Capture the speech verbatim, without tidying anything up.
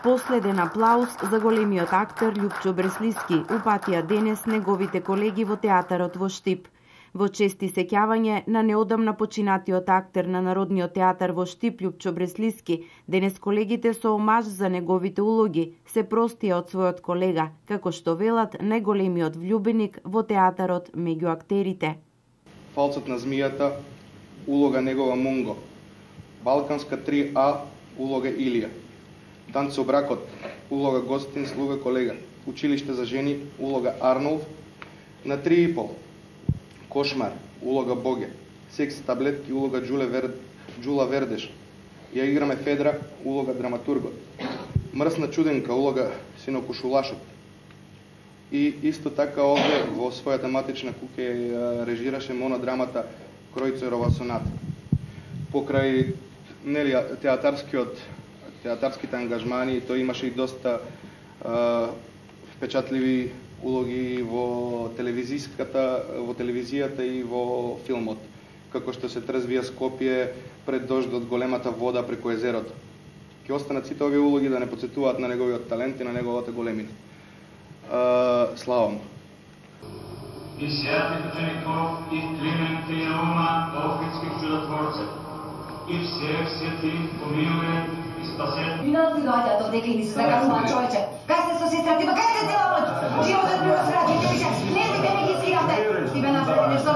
Последен аплауз за големиот актер Љупчо Бреслиски упатија денес неговите колеги во театарот во Штип. Во чести сеќавање на неодамна починатиот актер на Народниот театар во Штип Љупчо Бреслиски, денес колегите со омаж за неговите улоги се простија од својот колега, како што велат најголемиот влюбеник во театарот меѓу актерите. Фалцот на змијата, улога негова Мунго. Балканска три А, улога Илија. Танц со бракот, улога Гостин, слуга колега. Училиште за жени, улога Арнолф. На три и пол. Кошмар, улога Боге. Секс таблетки, улога Джуле Вер... Джула Вердеш. Ја играме Федра, улога драматургот. Мрсна чуденка, улога Сино Кушулашот. И исто така овде во своја тематична куќа режираше монодрамата Кројцерова соната. Покрај нели театарскиот театарските ангажмани, тој имаше и доста е, впечатливи улоги во телевизиската, во телевизијата и во филмот, како што се трзвија Скопје пред дождот, големата вода преку езерото. Ќе останат сите овие улоги да не потсетуваат на неговиот талент и на неговата големина. Е, слава му. И святих учеников, и Климент и Рома, Охридских чудотворцев, и всех святых помилуе и спасет. Виновни дојдат одека и ми се закажуваат човече. Кај сте со сестрата, кај сте цела ноќ? Животот ми го сраќате, више, не си ме регистрирате. Ти бе направи нешто